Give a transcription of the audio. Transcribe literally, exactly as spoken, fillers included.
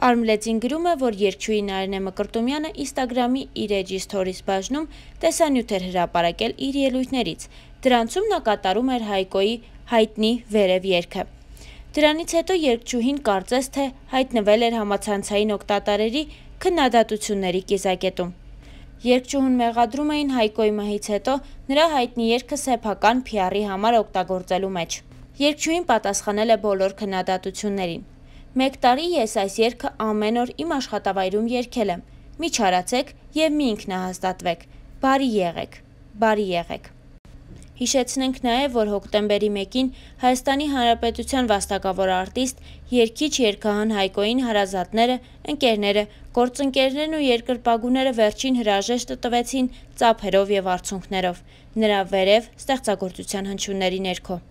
Արմլեցին գրում է, որ երգչուհի Նարինե Մկրտումյանը Instagram-ի իր էջի սթորիս բաժնում տեսանյութ էր հրապարակել իր ելույթներից։ Դրանցում նա կատարում էր Հայկոյի հայտնի «Վերև» երգը։ Դրանից հետո երգչուհին կարծես թե հայտնվել էր համացանցային օգտատերերի քննադատությունների կիզակետում։ Երգչուհուն մեղադրում էին Հայկոյի մահից հետո նրա հայտնի երգը սեփական փի արի համար օգտագործելու մեջ։ Երգչուհին պատասխանել է բոլոր քննադատություններին։ Մեկ տարի ես այս երգը ամեն օր իմ աշխատավայրում երգել եմ։ Մի չարացեք և մի ինքնահաստատվեք։ Բարի եղեք, բարի եղեք։ Հիշեցնենք նաև, որ հոկտեմբերի մեկին Հայաստանի Հանրապետության վաստակավոր արտիստ, երգիչ երգահան Հայկոյին հարազատները, ընկերները, գործընկերներն ու երկրպագուները վերջին հրաժեշտը տվեցին ծափերով և արցունքներով, նրա «Վերև» ստեղծագործության հնչյունների ներքո։